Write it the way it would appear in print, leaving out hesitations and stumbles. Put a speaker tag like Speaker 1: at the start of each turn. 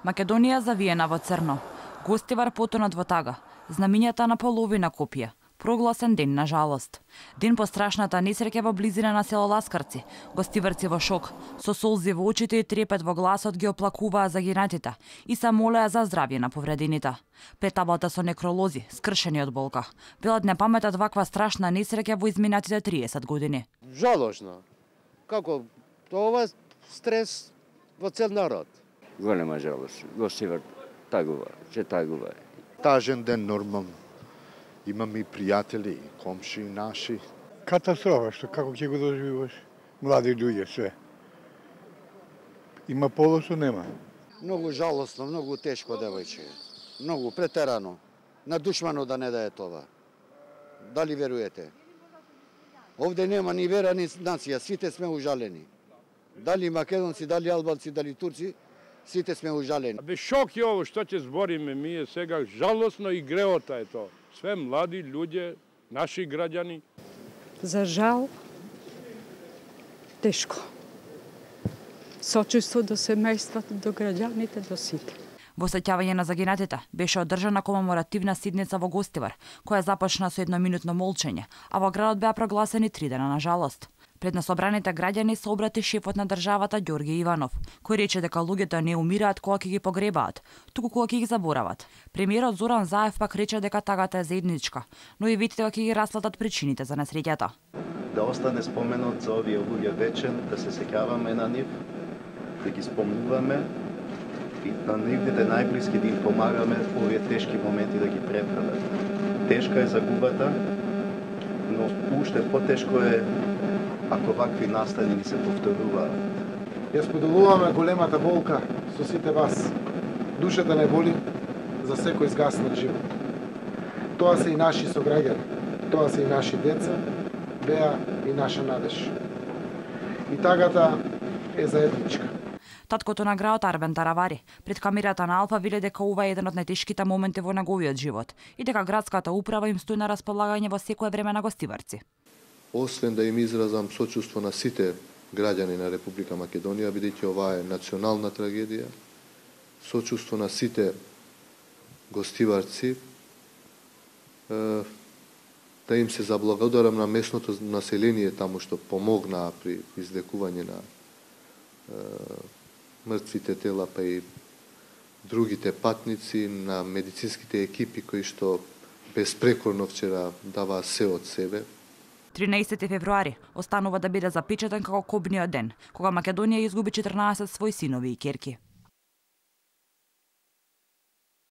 Speaker 1: Македонија завиена во црно. Гостивар потонат во тага. Знамињата на половина копија. Прогласен ден на жалост. Ден по страшната несреќа во близина на село Ласкарци. Гостиварци во шок, со солзи во очите и трепет во гласот ги оплакуваа загинатите и се молеа за здравје на повредените. Пред таблата со некролози, скршени од болка, велат не паметат ваква страшна несреќа во изминатите 30 години.
Speaker 2: Жалошно. Како ова стрес во цел народ.
Speaker 3: Голема жалост. Гостивар тагува, че тагува.
Speaker 4: Тажен ден нормално. Имам и пријатели, и комши наши.
Speaker 5: Катастрофа, што како ќе го доживуваш? Млади луѓе, све. Има полосо, нема.
Speaker 2: Многу жалосно, многу тешко, девојче. Многу претерано. На душмано да не дае това. Дали веруете? Овде нема ни вера, ни нација, сите сме ужалени. Дали македонци, дали албанци, дали турци, сите сме ужалени.
Speaker 6: Бе шок е ово што ќе збориме ние сега, жалосно и греота е тоа. Све млади луѓе, наши граѓани.
Speaker 7: За жал, тешко. Сочувство до семејството, до граѓаните, до сите.
Speaker 1: Во сеќавање на загинатите беше одржана комеморативна седница во Гостивар, која започна со едноминутно молчење, а во градот беа прогласени 3 дена на жалост. Пред насобраните граѓани се обрати шефот на државата Ѓорги Иванов, кој рече дека луѓето не умираат кога ќе ги погребаат, туку кога ќе ги заборават. Премиерот Зоран Заев пак рече дека тагата е заедничка, но и види дека ќе ги расплатат причините за несреќата.
Speaker 8: Да остане споменот за овие луѓе вечен, да се сеќаваме на нив, да ги спомнуваме и на нивните најблиски да им помагаме овие тешки моменти да ги пребрават. Тешка е загубата, но уште потешко е ако вакви настани ни се повторуваат.
Speaker 9: Ја споделуваме големата болка со сите вас. Душата не боли за секој згаснат живот. Тоа се и наши сограѓани, тоа се и наши деца, беа и наша надеж. И тагата е заедничка.
Speaker 1: Таткото на градот Арбен Таравари пред камерата на Алфа вели дека ова е еден од најтешките моменти во неговиот живот и дека градската управа им стои на располагање во секое време на гостиварци.
Speaker 4: Освен да им изразам сочувство на сите граѓани на Република Македонија, бидејќи ова е национална трагедија, сочувство на сите гостиварци, да им се заблагодарам на местното население таму што помогнаа при извлекување на мртвите тела, па и другите патници, на медицинските екипи кои што безпрекорно вчера даваа се од себе.
Speaker 1: 13 февруари останува да биде запечатен како кобниот ден, кога Македонија изгуби 14 своји синови и ќерки.